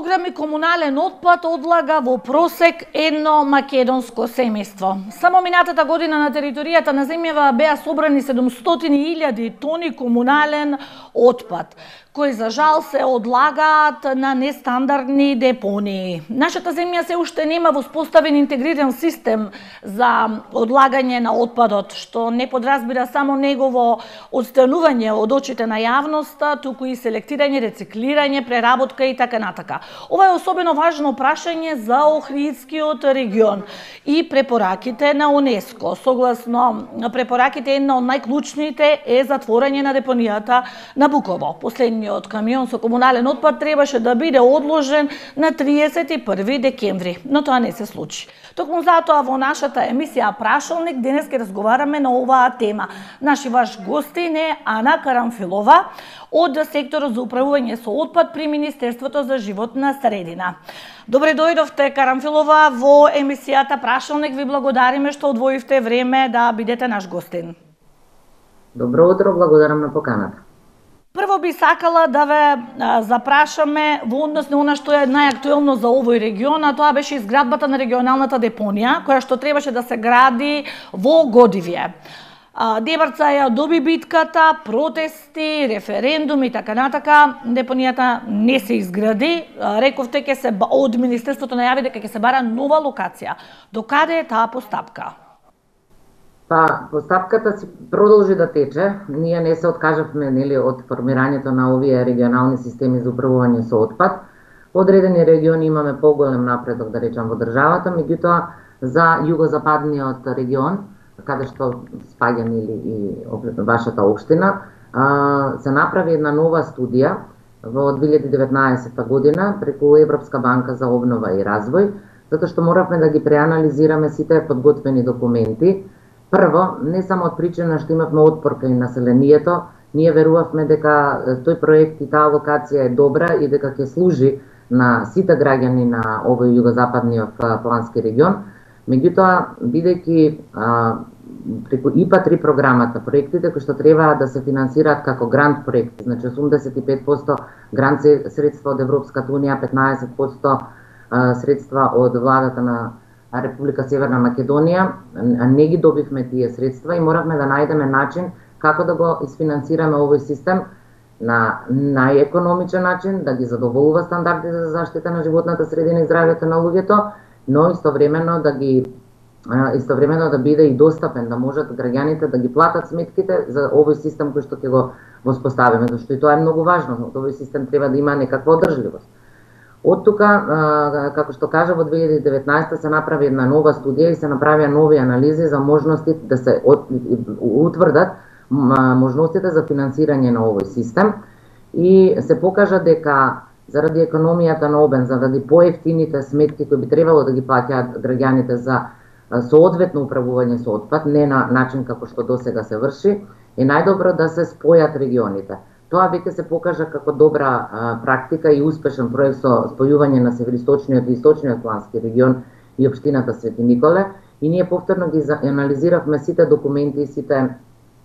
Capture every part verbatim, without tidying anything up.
килограми комунален отпад одлага во просек едно македонско семејство. Само минатата година на територијата на земјава беа собрани седумстотини илјади тони комунален отпад, кои за жал се одлагаат на нестандардни депонии. Нашата земја се уште нема воспоставен интегриран систем за одлагање на отпадот, што не подразбира само негово одстранување од очите на јавноста, туку и селектирање, рециклирање, преработка и така натака. Ова е особено важно прашање за Охридскиот регион и препораките на УНЕСКО. Согласно препораките, една од најклучните е затворање на депонијата на Буково. Последниот камион со комунален отпад требаше да биде одложен на триесет и први декември, но тоа не се случи. Токму затоа во нашата емисија Прашалник денес ќе разговараме на оваа тема. Наши ваш гостин е Ана Карамфилова од секторот за управување со отпад при Министерството за животна средина. Добре дојдовте, Карамфилова, во емисијата Прашалник. Ви благодариме што одвоивте време да бидете наш гостин. Добро утро, благодарам на поканата. Прво би сакала да ве а, запрашаме во однос на она што е најактуелно за овој регион, а тоа беше изградбата на регионалната депонија, која што требаше да се гради во Годивје. Дебарца ја доби битката, протести, референдуми и така натака. Депонијата не се изгради. Рековте ќе се од Министерството најави дека ќе се бара нова локација. До каде е таа постапка? Па, постапката си продолжи да тече. Ние не се откажавме, нели, од формирањето на овие регионални системи за управување со отпад. Во одредени региони имаме поголем напредок, да речам, во државата, меѓутоа за југозападниот регион, каде што спаѓа, нели, и вашата општина, се направи една нова студија во две илјади и деветнаесетта година преку Европска банка за обнова и развој, затоа што моравме да ги преанализираме сите подготвени документи. Прво, не само од причина што имавме отпор кај населението, ние верувавме дека тој проект и таа локација е добра и дека ќе служи на сите граѓани на овој југозападниот плански регион. Меѓутоа, бидејќи преку И П А три програмата, проектите кои што треба да се финансираат како грант проекти, значи осумдесет и пет проценти грант средства од Европската унија, петнаесет проценти средства од владата на Република Северна Македонија, не ги добивме тие средства и моравме да најдеме начин како да го isfinansираме овој систем на најекономичен начин, да ги задоволува стандардите за заштита на животната средина и здравјето на луѓето, но истовремено да ги истовремено да биде и достапен, да можат граѓаните да ги платат сметките за овој систем кој што ќе го воспоставиме, зашто и тоа е многу важно, но овој систем треба да има некаква одржливост. Од тука, како што кажа, во две илјади и деветнаесетта се направи една нова студија и се направија нови анализи за можности да се утврдат можностите за финансирање на овој систем и се покажа дека заради економијата на обем, заради поевтините сметки кои би требало да ги плаќаат граѓаните за соодветно управување со отпад, не на начин како што досега се врши, е најдобро да се спојат регионите. Тоа веќе се покажа како добра а, практика и успешен проект со спојување на североисточниот и источниот плански регион и општината Свети Николе, и ние повторно ги анализиравме сите документи и сите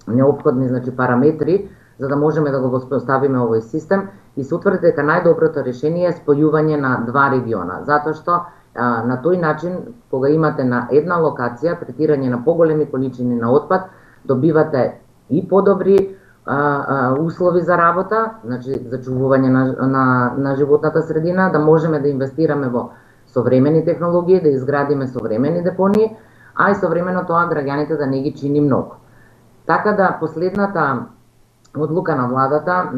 неопходни, значи, параметри за да можеме да го воспоставиме овој систем и се утврди дека најдоброто решение е спојување на два региона, затоа што а, на тој начин кога имате на една локација третирање на поголеми количини на отпад, добивате и подобри А, а, услови за работа, значи за чувување на, на, на животната средина, да можеме да инвестираме во современи технологии, да изградиме современи депонии, а и современо тоа граѓаните да не ги чини многу. Така да последната одлука на владата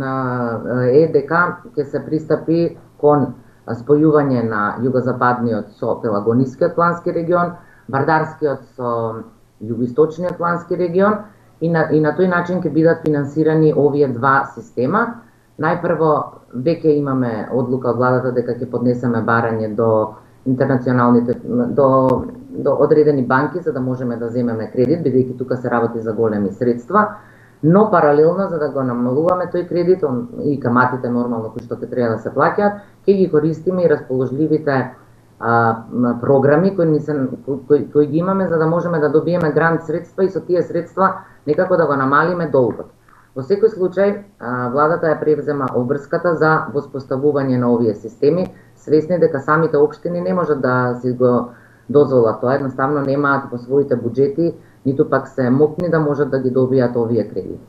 е дека ќе се пристапи кон спојување на југозападниот со Пелагонискиот плански регион, Бардарскиот со југоисточниот плански регион, И на, и на тој начин ќе бидат финансирани овие два система. Најпрво, веќе имаме одлука од владата дека ќе поднесеме барање до интернационалните, до, до одредени банки за да можеме да земеме кредит, бидејќи тука се работи за големи средства, но паралелно за да го намалуваме тој кредит и каматите нормално кои што ќе треба да се плаќаат, ќе ги користиме и расположливите а, програми кои, се, кои, кои ги имаме за да можеме да добиеме грант средства и со тие средства некако да го намалиме долгот. Во секој случај, владата ја превзема обврската за воспоставување на овие системи, свесни дека самите општини не можат да си го дозволат тоа, едноставно немаат по своите буџети, ниту пак се мокни да можат да ги добијат овие кредити.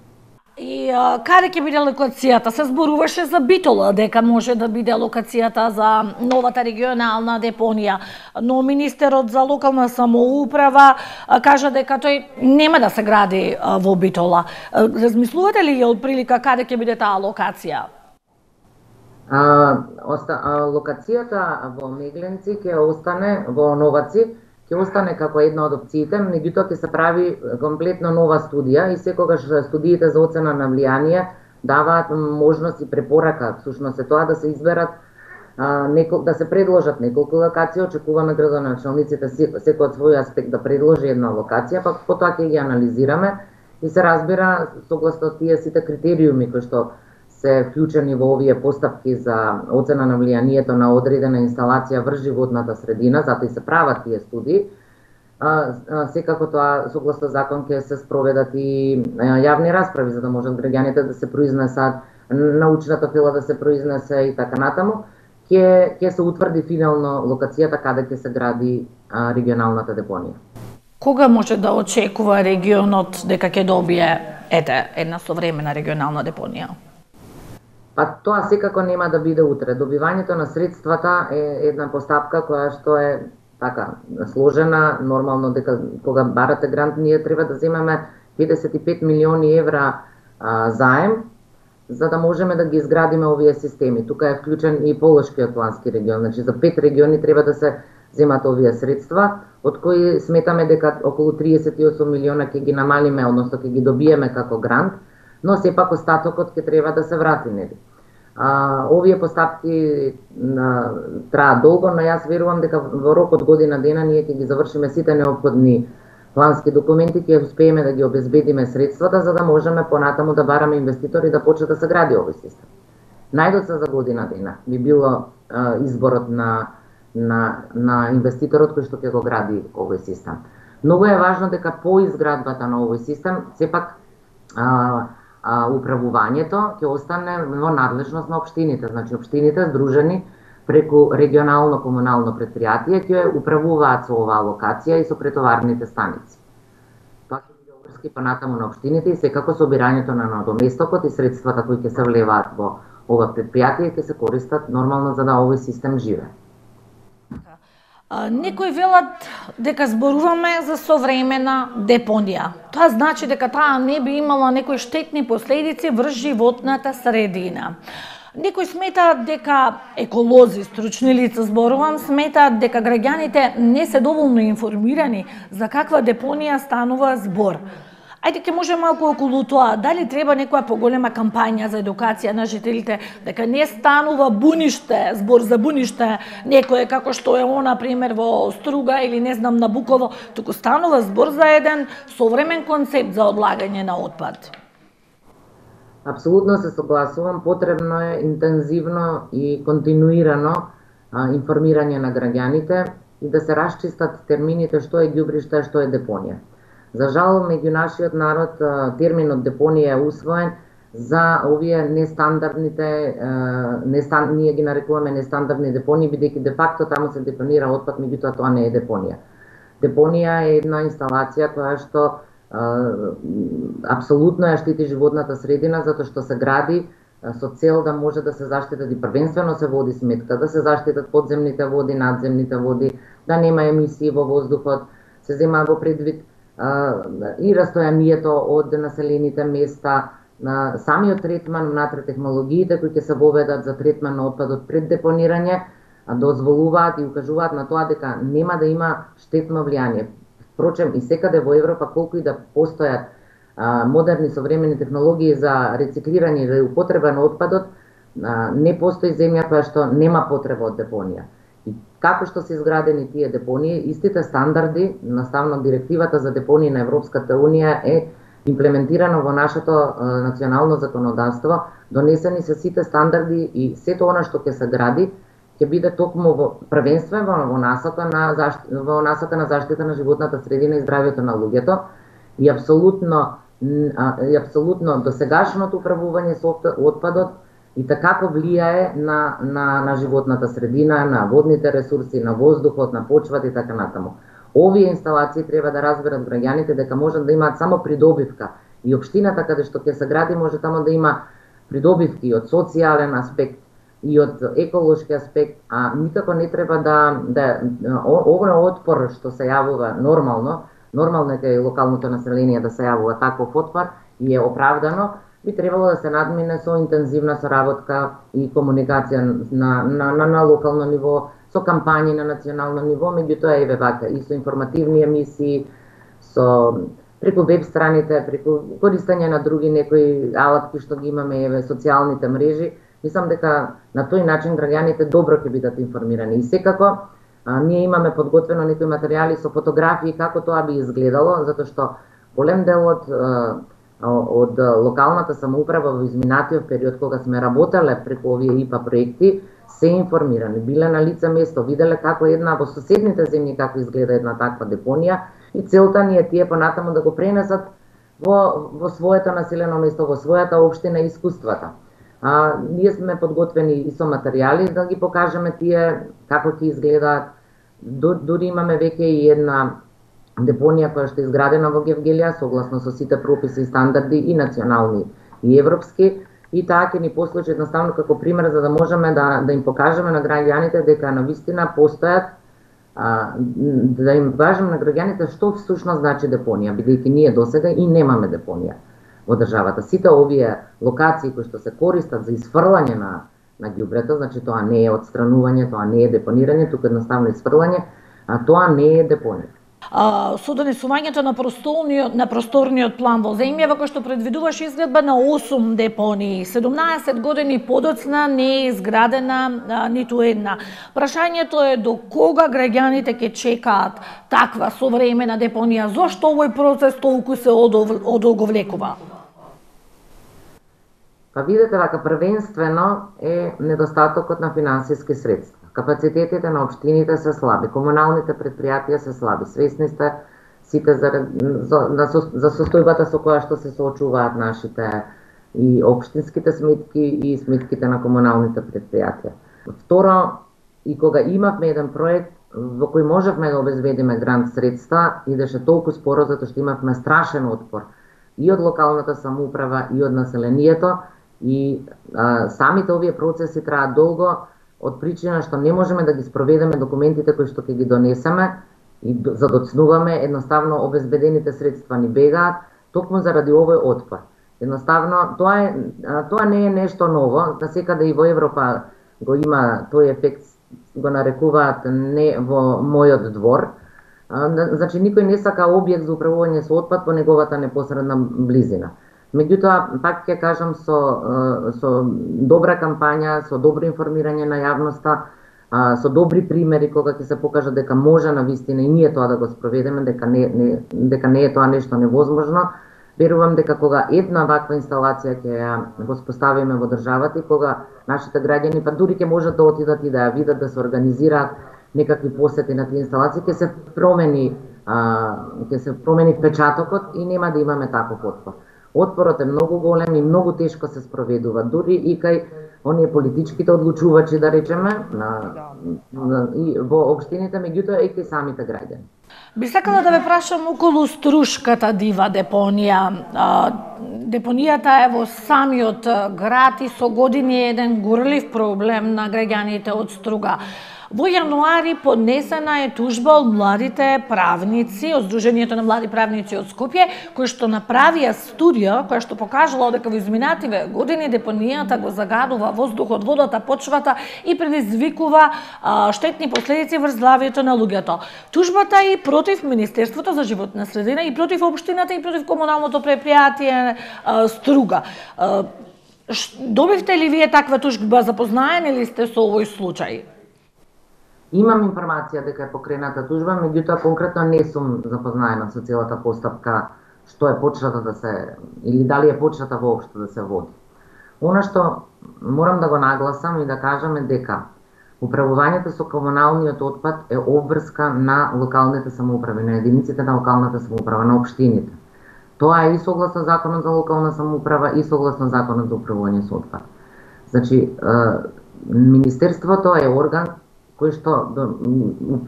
И а, каде ќе биде локацијата? Се зборуваше за Битола, дека може да биде локацијата за новата регионална депонија, но министерот за локална самоуправа а, кажа дека тој нема да се гради а, во Битола. А, размислувате ли од прилика каде ќе биде таа локација? А, оста, а, локацијата во Мегленци ќе остане, во Новаци, ќе остане како една од опциите, меѓутоа ќе се прави комплетно нова студија и секогаш студиите за оцена на влијание даваат можност и препорака, всушност е тоа да се изберат а, некол, да се предложат неколку локации, очекуваме градоначалниците секој од свој аспект да предложи една локација, па потоа ќе ги анализираме и се разбира согласно тие сите критериуми кои што се вклучени во овие постапки за оцена на влијанието на одредена инсталација врз животната средина, затоа и се прават тие студии. А, а, секако тоа согласно закон ќе се спроведат и а, јавни расправи за да можат граѓаните да се произнесат, научната фила да се произнесе и така натаму. Ќе ќе се утврди финално локацијата каде ќе се гради а, регионалната депонија. Кога може да очекува регионот дека ќе добие ете една современа регионална депонија? Па тоа секако нема да биде утре. Добивањето на средствата е една постапка која што е така сложена, нормално дека кога барате грант ние треба да земеме педесет и пет милиони евра а, заем за да можеме да ги изградиме овие системи. Тука е вклучен и Полошкиот плански регион, значи за пет региони треба да се земат овие средства, од кои сметаме дека околу триесет и осум милиона ќе ги намалиме, односно ќе ги добиеме како грант, но сепак остатокот ќе треба да се врати, нели? А, овие постапки на, траат долго, но јас верувам дека во рок од година дена ние ќе ги завршиме сите неопходни плански документи, ќе успееме да ги обезбедиме средствата за да можеме понатаму да бараме инвеститори да почне да се гради овој систем. Најдоцна за година дена би било а, изборот на, на, на инвеститорот кој што ќе го гради овој систем. Многу е важно дека по изградбата на овој систем сепак а, а, управувањето ќе остане во надлежност на општините, значи општините здружени преку регионално комунално предпријатие ќе управуваат со оваа локација и со претоварните станици. Тоа ќе биде обврски понатаму на општините и секако собирањето на надоместокот и средствата кои ќе се влеваат во ова предпријатие ќе се користат нормално за да овој систем живее. Некои велат дека зборуваме за современа депонија. Тоа значи дека таа не би имала некои штетни последици врз животната средина. Некои сметаат дека еколози, стручни лица зборувам, сметаат дека граѓаните не се доволно информирани за каква депонија станува збор. Ајде ќе може малку околу тоа, дали треба некоја поголема кампања за едукација на жителите, дека не станува буниште, збор за буниште, некое како што е она пример во Струга или не знам на Буково, туку станува збор за еден современ концепт за одлагање на отпад. Апсолутно се согласувам, потребно е интензивно и континуирано а, информирање на граѓаните и да се расчистат термините што е ѓубриште, што е депонија. За жал, меѓу нашиот народ терминот депонија е усвоен за овие нестандардните, нестан, ние ги нарекуваме нестандардни депонии, бидејќи де факто таму се депонира отпад, меѓутоа тоа не е депонија. Депонија е една инсталација која што апсолутно ја штити животната средина, затоа што се гради со цел да може да се заштитат и првенствено се води сметка, да се заштитат подземните води, надземните води, да нема емисии во воздухот, се зема во предвид и растојанието од населените места, на самиот третман, внатре технологиите кои ќе се воведат за третман на отпадот пред депонирање, дозволуваат и укажуваат на тоа дека нема да има штетно влијание. Впрочем, и секаде во Европа, колку и да постојат а, модерни современи технологии за рециклирање и употреба на отпадот, а, не постои земја која што нема потреба од депонија. И како што се изградени тие депонии, истите стандарди, наставно директивата за депонии на Европската Унија е имплементирано во нашето а, национално законодавство, донесени се сите стандарди и сето она што ќе се гради, ќе биде токму во првенствено во насока на заштита, во насока на заштита на животната средина и здравјето на луѓето и апсолутно и апсолутно досегашното управување со отпадот и така влијае на, на, на животната средина, на водните ресурси, на воздухот, на почвата и така натаму. Овие инсталации треба да разберат граѓаните дека можат да имаат само придобивка и општината каде што ќе се гради може тамо да има придобивки од социјален аспект и од еколошки аспект, а никако не треба да, да овој отпор што се јавува нормално, нормално е кај локалното население да се јавува таков отпор и е оправдано, би требало да се надмине со интензивна соработка и комуникација на, на, на, на локално ниво, со кампањи на национално ниво, меѓутоа еве вака и со информативни емисии, со преку веб страните, преку користење на други некои алатки што ги имаме, еве социјалните мрежи. Мислам дека на тој начин граѓаните добро ќе бидат информирани. И секако а, ние имаме подготвено некои материјали со фотографии како тоа би изгледало, затоа што голем дел од од локалната самоуправа во изминатиот период кога сме работеле преку овие ИПА проекти се информирани, биле на лице место, виделе како една во соседните земји како изгледа една таква депонија и целта ни е тие понатаму да го пренесат во, во своето населено место, во својата општина искуствата. А, ние сме подготвени и со материјали да ги покажеме тие како ќе изгледаат. Дури имаме веќе и една депонија која што е изградена во Гевгелија согласно со сите прописи и стандарди и национални и европски, и таа ќе ни послужи едноставно како пример за да можеме да, да им покажеме на граѓаните дека навистина постојат, а, да им покажеме на граѓаните што всушност значи депонија, бидејќи ние досега и немаме депонија во државата. Сите овие локации кои што се користат за изфрлање на, на ѓубрето, значи тоа не е отстранување, тоа не е депонирање, туку едноставно изфрлање, а тоа не е депонија. А, со донесувањето на просторниот, на просторниот план во земјава кој што предвидуваше изградба на осум депонии, седумнаесет години подоцна не е изградена а, ниту една. Прашањето е до кога граѓаните ќе чекаат таква современа депонија? Зошто овој процес толку се одолговлекува? Па видете вака, првенствено е недостатокот на финансиски средства. Капацитетите на општините се слаби, комуналните предпријатија се слаби. Свесни сте сите за, за, за состојбата со која што се соочуваат нашите и општинските сметки и сметките на комуналните предпријатија. Второ, и кога имавме еден проект во кој можевме да обезбедиме грант средства, идеше толку споро затоа што имавме страшен отпор и од локалната самоуправа и од населението и а, самите овие процеси траат долго, од причина што не можеме да ги спроведеме документите кои што ќе ги донесеме и задоцнуваме, едноставно обезбедените средства ни бегаат, токму заради овој отпор. Едноставно, тоа, е, тоа не е нешто ново, насекаде и во Европа го има тој ефект, го нарекуваат не во мојот двор. Значи, никој не сака објект за управување со отпад по неговата непосредна близина. Меѓутоа, пак ќе кажам, со, со добра кампања, со добро информирање на јавноста, со добри примери кога ќе се покажа дека може на вистина и ние тоа да го спроведеме, дека не, не, дека не е тоа нешто невозможно, верувам дека кога една ваква инсталација ќе ја воспоставиме во државата и кога нашите граѓани па дури ќе можат да отидат и да ја видат, да се организираат некакви посети на тие инсталации, ќе се промени, ќе се промени впечатокот и нема да имаме таков отпор. Отпорот е многу голем и многу тешко се спроведува, дури и кај оние политичките одлучувачи, да речеме, на, на, и во општините, меѓутоа и кај самите граѓани. Би сакала да ве прашам околу Струшката дива депонија. Депонијата е во самиот град и со години е еден горлив проблем на граѓаните од Струга. Во јануари поднесена е тужба од младите правници, од Сдруженијето на млади правници од Скопје, кои што направија студија која што покажала дека во изминативе години депонијата го загадува воздухот, водата, почвата и предизвикува а, штетни последици врз здравјето на луѓето. Тужбата и против Министерството за животна средина и против општината и против комуналното предпријатие а, Струга. А, добивте ли вие таква тужба, запознаени ли сте со овој случај? Имам информација дека е покрената тужба, меѓутоа конкретно не сум запознаена со целата постапка, што е почната да се, или дали е почната воопшто да се води. Она што морам да го нагласам и да кажам е дека управувањето со комуналниот отпад е обврска на локалните самоуправи, на единиците на локалната самоуправа, на општините. Тоа е и согласно Законот за локална самоуправа и согласно Законот за управување со отпад. Значи, Министерството е орган кој што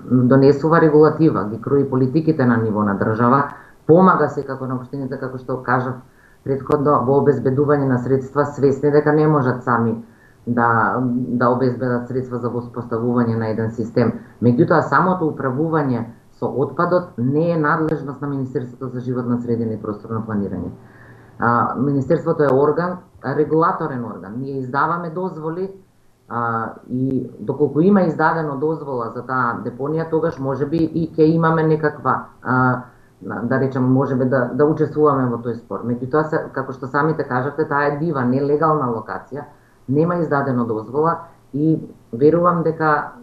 донесува регулатива, ги крои политиките на ниво на држава, помага секако на општините, како што кажав претходно, во обезбедување на средства, свесни дека не можат сами да, да обезбедат средства за воспоставување на еден систем. Меѓутоа, самото управување со отпадот не е надлежност на Министерството за животна средина и просторно планирање. А, Министерството е орган, регулаторен орган. Ние издаваме дозволи а, и доколку има издадено дозвола за таа депонија, тогаш можеби и ќе имаме некаква, а, да речем, можеби да, да учествуваме во тој спор. Меѓутоа, како што самите кажавте, таа е дива, нелегална локација, нема издадено дозвола и верувам дека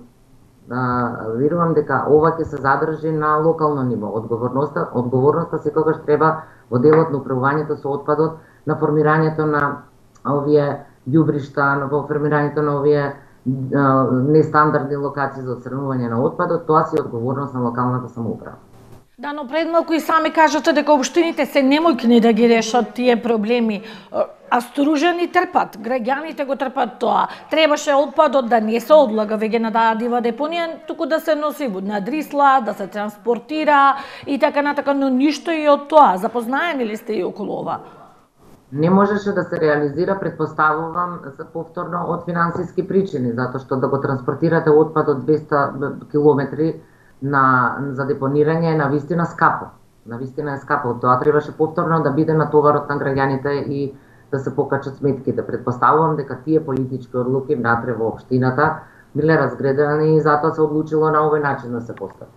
Uh, верувам дека ова ќе се задржи на локално ниво. Одговорноста, одговорноста секогаш треба во делот на управувањето со отпадот, на формирањето на овие ѓубришта, во формирањето на овие uh, нестандардни локации за отстранување на отпадот, тоа си е одговорност на локалната самоуправа. Да, но пред малку и сами кажате дека општините се немојкни да ги решат тие проблеми, а стружени трпат, граѓаните го трпат тоа. Требаше отпадот да не се одлага веќе на таа дива депонија, туку да се носи на Дрисла, да се транспортира и така натака, но ништо и од тоа. Запознаени ли сте и околу ова? Не можеше да се реализира, предпоставувам, за повторно од финансиски причини, затоа што да го транспортирате отпадот двесте километри на за депонирање е навистина скапо. Навистина е скапо. Тоа требаше повторно да биде натоварот на граѓаните и да се покачат сметките. Предпоставувам дека тие политички одлуки внатре во општината биле разгредени и затоа се одлучило на овој начин да се постапи.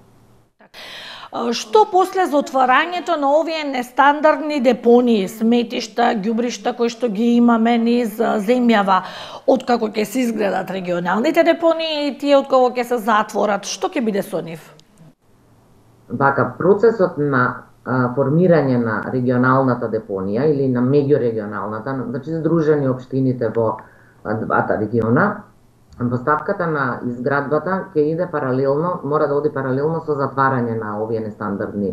Што после за отварањето на овие нестандардни депонии, сметишта, ѓубришта кои што ги имаме низ земјава, откако ќе се изградат регионалните депонии и тие откако ќе се затворат, што ќе биде со нив? Вака, процесот на а, формирање на регионалната депонија или на меѓурегионалната, значи здружени општините во а, двата региона, поставката на изградбата ќе иде паралелно, мора да оди паралелно со затварање на овие нестандардни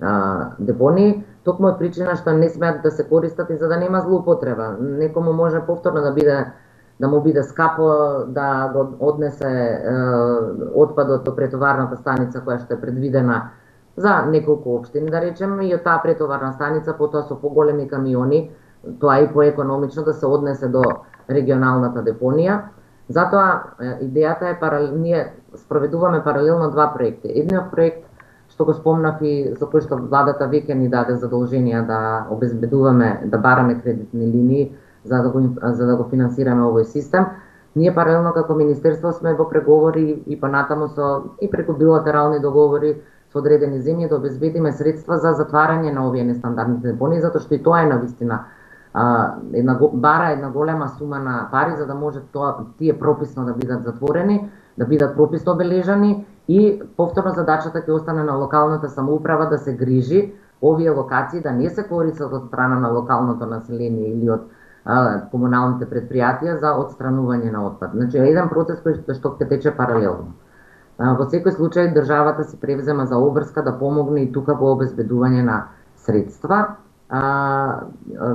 а, депонии, токму од причина што не смеат да се користат и за да нема злоупотреба. Некому може повторно да биде да му биде скапо да го однесе е, отпадот до претоварната станица која што е предвидена за неколку општини, да речем, и од таа претоварна станица потоа со поголеми камиони, тоа е и поекономично да се однесе до регионалната депонија. Затоа идејата е паралел, ние спроведуваме паралелно два проекти. Едниот проект што го спомнав и за кој што владата веќе ни даде задолженија да обезбедуваме, да бараме кредитни линии за да го за да го финансираме овој систем. Ние паралелно како министерство сме во преговори и понатаму со и преку билатерални договори со одредени земји да обезбедиме средства за затварање на овие нестандардни депонии, затоа што и тоа е навистина а, една бара една голема сума на пари за да може тоа тие прописно да бидат затворени, да бидат прописно обележани и повторно задачата ќе остане на локалната самоуправа да се грижи овие локации да не се користат од страна на локалното население или од а, комуналните предпријатија за отстранување на отпад. Значи еден процес кој што ќе тече паралелно. А, во секој случај државата се превзема за обврска да помогне и тука во обезбедување на средства. А, а,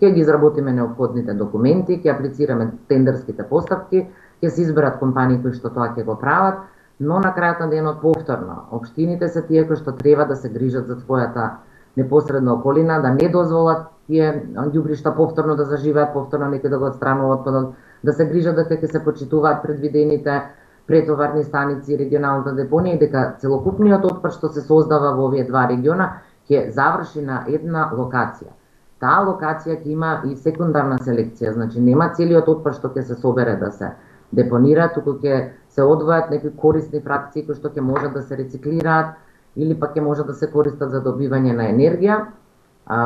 ќе ги изработиме неопходните документи, ќе аплицираме тендерските постапки, ќе се изберат компании кои што тоа ќе го прават, но на крајот на денот повторно општините се тие кои што треба да се грижат за својата непосредна околина, да не дозволат тие ѓубришта повторно да заживеат, повторно некој да го отстранува отпадот, да се грижат дека ќе се почитуваат предвидените претоварни станици и регионалната депонија и дека целокупниот отпад што се создава во овие два региона ќе заврши на една локација. Таа локација ќе има и секундарна селекција, значи нема целиот отпад што ќе се собере да се депонира, туку ќе се одвојат некои корисни фракции кои што ќе можат да се рециклираат или пак ќе можат да се користат за добивање на енергија. А,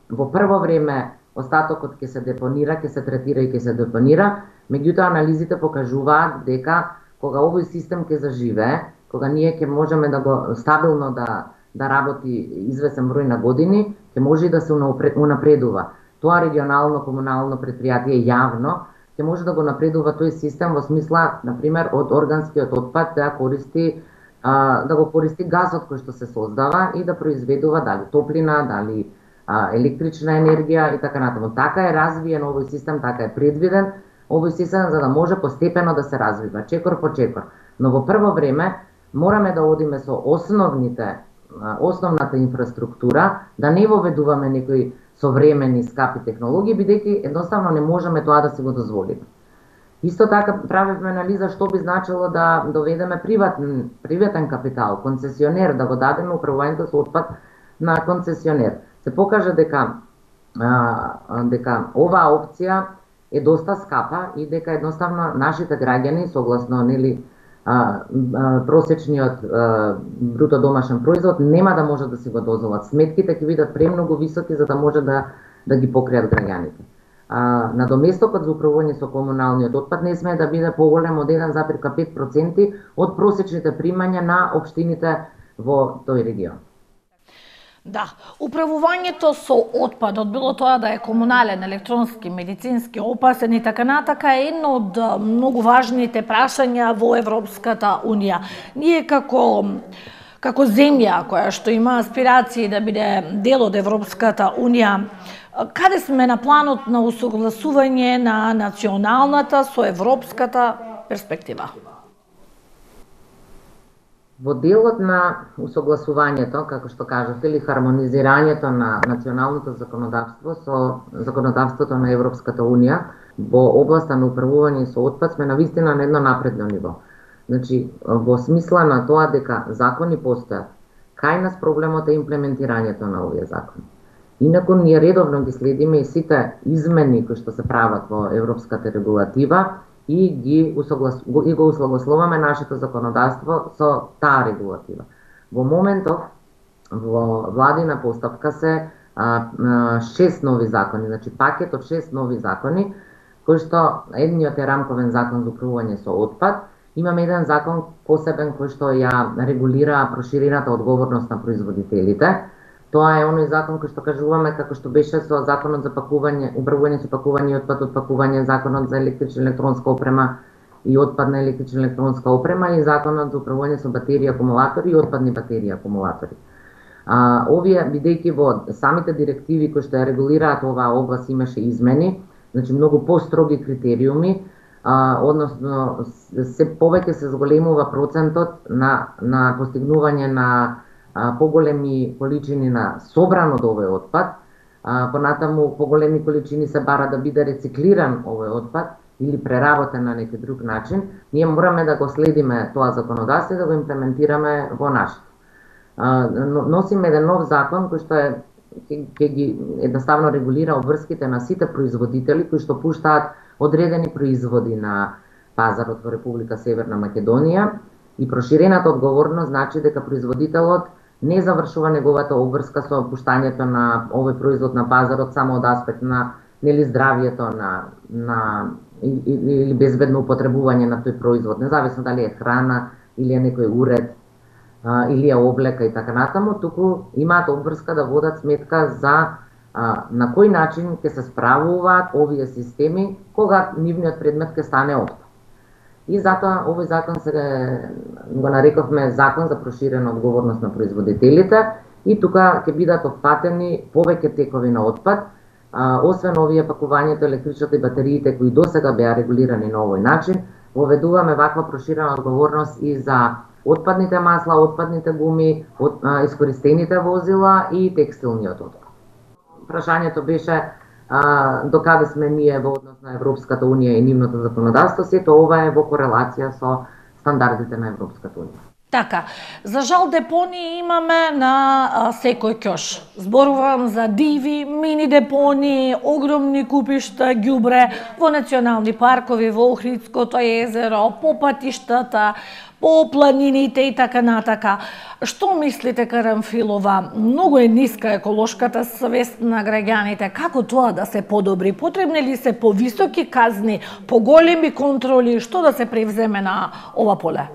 во прво време остатокот ќе се депонира, ќе се третира и ќе се депонира, меѓутоа анализите покажуваат дека кога овој систем ќе заживее, кога ние ќе можеме да го стабилно да да работи извесен број на години, ќе може и да се унапредува. Тоа регионално комунално предпријатие јавно ќе може да го напредува тој систем во смисла, на пример, од органскиот отпад да користи а, да го користи газот кој што се создава и да произведува дали топлина, дали електрична енергија и така натаму. Така е развиен овој систем, така е предвиден овој систем за да може постепено да се развива, чекор по чекор. Но во прво време мораме да одиме со основните, основната инфраструктура, да не воведуваме некои современи скапи технологии, бидејќи едноставно не можеме тоа да си го дозволиме. Исто така правевме анализа што би значило да доведеме приватен, приватен капитал, концесионер, да го дадеме управувањето со отпад на концесионер. Се покажа дека а, дека оваа опција е доста скапа и дека едноставно нашите граѓани согласно нели а, а, просечниот а, бруто домашен производ нема да може да си го дозволат. Сметките ќе бидат премногу високи за да може да да ги покријат граѓаните. А, надоместокот за управување со комуналниот отпад не смее да биде поголем од еден зарез пет проценти од просечните примања на општините во тој регион. Да, управувањето со отпадот, било тоа да е комунален, електронски, медицински, опасен и така натака, е едно од многу важните прашања во Европската Унија. Ние како како земја која што има аспирации да биде дел од Европската Унија, каде сме на планот на усогласување на националната со европската перспектива? Во делот на усогласувањето, како што кажавте, или хармонизирањето на националното законодавство со законодавството на Европската Унија во областа на управување со отпад сме навистина на едно напредно ниво. Значи, во смисла на тоа дека закони постојат, кај нас проблемот е имплементирањето на овие закони. Инаку ние редовно ги следиме и сите измени кои што се прават во европската регулатива и ги усоглас... и го усогласуваме нашето законодавство со таа регулатива. Во моментов во владина постапка се а, а, шест нови закони, значи пакет од шест нови закони, кои што едниот е рамковен закон за управување со отпад, имаме еден закон посебен кој што ја регулира проширената одговорност на производителите. Тоа е оној закон кој што кажуваме како што беше со законот за пакување, управување со пакување и отпад од пакување, законот за електрична електронска опрема и отпадна електрична електронска опрема и законот за управување со батерии, акумулатори и отпадни батерии, акумулатори. А, овие, бидејќи во самите директиви кои што ја регулираат оваа област имаше измени, значи многу построги критериуми, а, односно се повеќе се зголемува процентот на на постигнување на поголеми количини на собран од овој отпад, а, понатаму поголеми количини се бара да биде рециклиран овој отпад или преработен на некој друг начин, ние мораме да го следиме тоа законодавство и да го имплементираме во нашето. Носиме еден нов закон кој што е ќе ги едноставно регулира обврските на сите производители кои што пуштаат одредени производи на пазарот во Република Северна Македонија и проширената одговорност значи дека производителот не завршува неговата обврска со пуштањето на овој производ на пазарот само од аспект на нели здравјето на на или безбедно употребување на тој производ, независно дали е храна или е некој уред а, или е облека и така натаму, туку имаат обврска да водат сметка за а, на кој начин ќе се справуваат овие системи кога нивниот предмет ќе стане отпад. И затоа овој закон се го нарековме закон за проширена одговорност на производителите и тука ќе бидат опфатени повеќе текови на отпад, а, освен овие пакувањето, електричната и батериите кои досега беа регулирани на овој начин, воведуваме ваква проширена одговорност и за отпадните масла, отпадните гуми, от, а, искористените возила и текстилниот отпад. Прашањето беше а, до каде сме ние во однос на Европската Унија и нивното законодавство, сето ова е во корелација со стандардите на Европската Унија. Така, за жал депонии имаме на а, секој ќош. Зборувам за диви, мини депонии, огромни купишта ѓубре во национални паркови, во Охридското езеро, по патиштата, по планините и така натака. Што мислите, Карамфилова? Многу е ниска еколошката свест на граѓаните. Како тоа да се подобри? Потребни ли се повисоки казни, поголеми контроли? Што да се превземе на ова поле?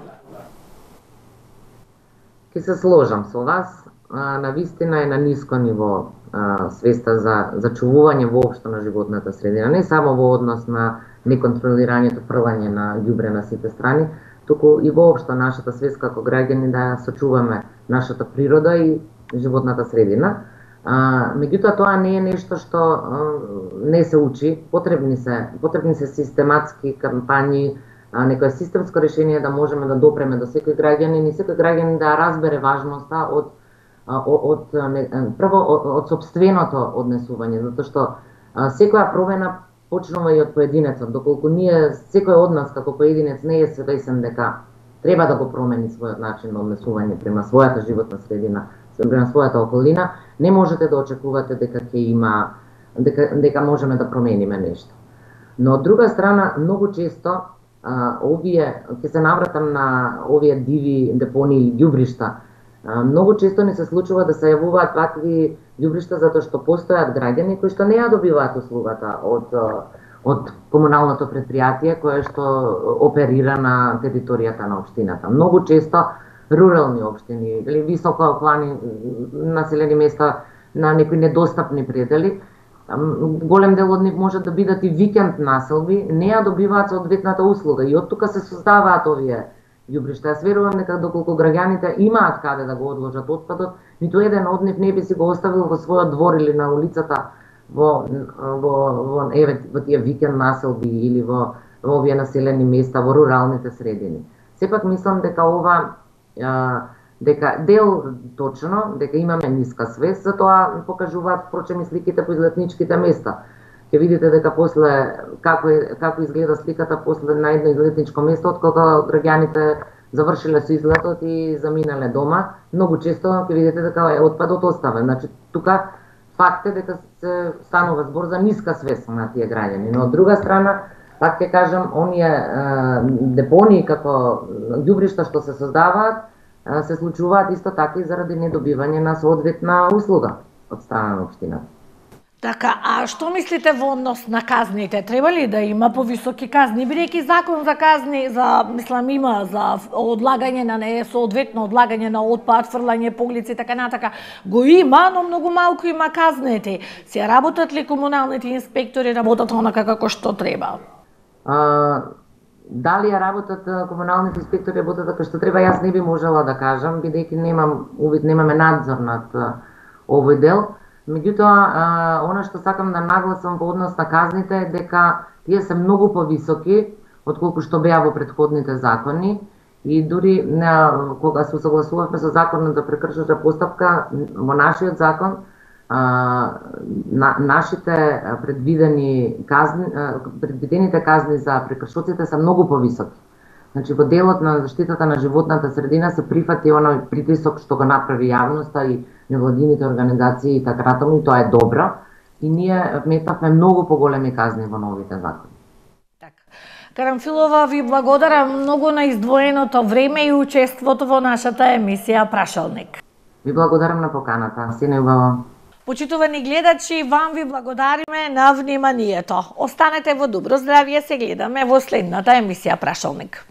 Ке се сложам со вас, на вистина е на ниско ниво а, свеста за зачувување воопшто на животната средина, не само во однос на неконтролирањето фрлање на ѓубре на сите страни, туку и воопшто нашата свест како граѓани да сочуваме нашата природа и животната средина. А, меѓутоа тоа не е нешто што а, не се учи, потребни се, потребни се систематски кампањи, а, некое системско решение да можеме да допреме до секој граѓанин и секој граѓанин да разбере важноста од од, од не, прво од, од сопственото однесување, затоа што а, секоја промена почнува и од поединецот, доколку ние секој од нас како поединец не е свесен дека треба да го промени својот начин на однесување према својата животна средина, према својата околина, не можете да очекувате дека ќе има дека дека можеме да промениме нешто. Но од друга страна многу често а, овие ќе се навратам на овие диви депонии или ѓубришта. Многу често ни се случува да се јавуваат вакви ѓубришта затоа што постојат граѓани кои што не ја добиваат услугата од од комуналното предпријатие кое што оперира на територијата на општината. Многу често рурални општини или високо плани населени места на некои недостапни предели, голем дел од нив можат да бидат и викенд населби, не ја добиваат соодветната услуга и од тука се создаваат овие ѓубришта. Јас верувам дека доколку граѓаните имаат каде да го одложат отпадот, ниту еден од нив не би си го оставил во својот двор или на улицата во во во еве во тие викенд населби или во во овие населени места во руралните средини. Сепак мислам дека ова а, дека дел точно дека имаме ниска свест, затоа покажуваат впрочем и сликите по излетничките места. Ќе видите дека после како е, како изгледа сликата после на едно излетничко место, откога граѓаните завршиле со излетот и заминале дома, многу често ќе видите дека е отпадот оставен. Значи тука факт е дека се станува збор за ниска свест на тие граѓани. Но од друга страна, пак ќе кажам, оние е, депонии како ѓубришта што се создаваат, е, се случуваат исто така и заради недобивање на соодветна услуга од страна на општината. Така, а што мислите во однос на казните? Треба ли да има повисоки казни? Бидејќи закон за казни, за, мислам, има за одлагање на несоодветно одлагање на отпад, фрлање по улици, така натака, го има, но многу малку има казнети. Се работат ли комуналните инспектори, работат онака како што треба? А, дали ја работат комуналните инспектори, работат како што треба, јас не би можела да кажам, бидејќи немам увид, немаме надзор над овој дел. Меѓутоа, она што сакам да нагласам во однос на казните е дека тие се многу повисоки отколку што беа во претходните закони и дури на, кога се согласувавме со законот за прекршачка постапка, во нашиот закон а, на, нашите предвидени казни, предвидените казни за прекршоците се многу повисоки. Значи, во делот на заштитата на животната средина се прифати оној притисок што го направи јавноста и невладините организации и така натаму, и тоа е добро. И ние вметнавме многу поголеми казни во новите закони. Така. Карамфилова, ви благодарам многу на издвоеното време и учеството во нашата емисија Прашалник. Ви благодарам на поканата. Се неубаво. Почитувани гледачи, вам ви благодариме на вниманието. Останете во добро здравје, се гледаме во следната емисија Прашалник.